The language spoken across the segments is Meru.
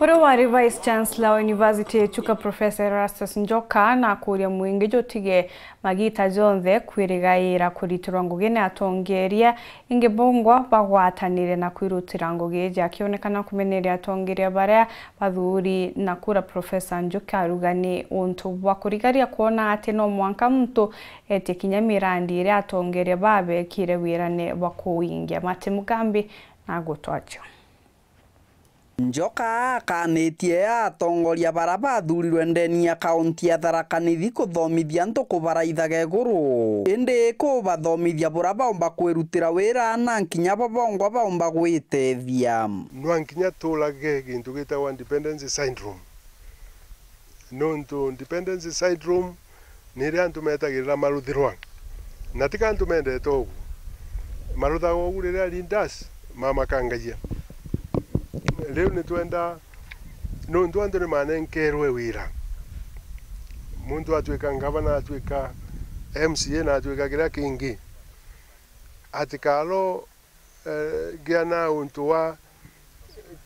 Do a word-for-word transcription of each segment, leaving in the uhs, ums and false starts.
Uria wari Vice Chancellor wa University ya Chuka, Professor Erastus Njoka, na akuuria mwingi jutige magita jonthe kwirigaira kuritirwa ngugi ni atongeria ingi bongwa bagwatanire na kwirutira ngugi iji. Akionekana kumeneria atongeria baria bathuri na kura, Professor Njoka aruga ni untu bwa kurigaria kwona ati no mwanka muntu etie kinya mirandi iria atongeria babekire wirane bwa kuwingia. Martin Mugambi na gutwacho. Njoka akanitie atongoria bara bathurirwe ndeni ya kaunti ya Tharaka Nithi kuthomithia antu kubaraithaga iguru, indi kubathomithia bura baumba kwirutira wira na nkinya bo bongwa baumba gwitethia. Nwa nkinya tuurage gintu gitagwa dependency syndrome. Nontu dependency syndrome ni iria antu metagirira maruthirwa, na tika antu mendete ugu. Maruthaga ugu riria leaders mamakangagia. Riu nitwenda, nontu antu ni manenkerwe wira, muntu atwika ngavana, atwika M C A na atwika kiria kingi, atikaro eh, gia na untu wa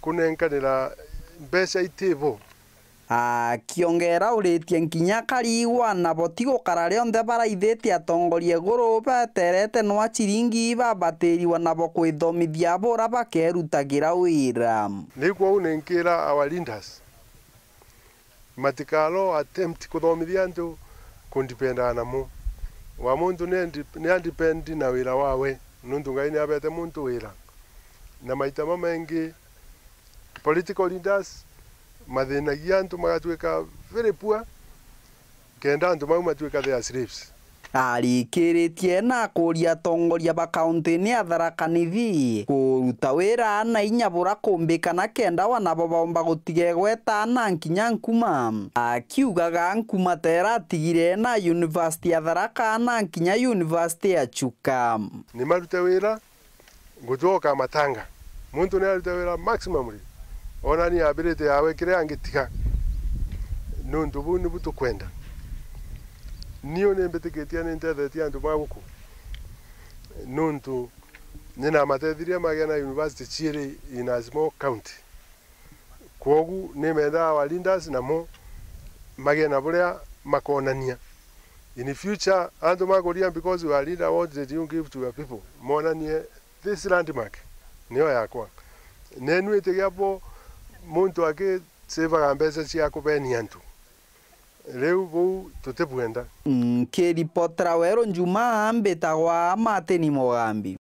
kunenkanira mbeca itibo. Akiongera uritie nkinya akarigwa nabo ti gukara rionthe baraithitie atongoria iguru beterete nwa ciringi babatiriwa nabo kwithomithia bura bakerutagira wira. Riu kwou ninkira our leaders, matikaro attempt kuthomithia antu kundipendaa namo. Wa muntu ni andi-, ni andipendi na wira wawe, nontu Ngai ni abete muntu wira. Na maita mamaingi, political leaders mathinagia antu magatwika very poor, kenda antu mau matwika their slaves. Arikiritie na akuria atongoria ba kaunti-ini ya Tharaka Nithi kuruta wira na inya bura kumbikana kenda wanabo baumba gutiga igweta na nkinya nkuma, akiugaga nkuma ta iratigire na University ya Tharaka na nkinya University ya Chuka. Ni marute wira, ngucoka matanga. Muntu ni arute wira maximumly, onani ability yawe kiria angitiga. Nontu buu nibu tukwenda. Niu ni mbitikitie ni ntethetie antu ba guku, nontu ni namatethirie magia na university ciiri in a small county. Kwogu ni mendaa our leaders namo magie na buria makonania. In future, antu makuria, because you are leader, what did you give to your people? Monanie, this landmark niyo yakwa. Nenu itigia bo muntu akisevaga mbeca cia kubenia antu. Riu buu tutibwenda. Nkiripotera Weru Njuma, mbitagwa Martin Mugambi.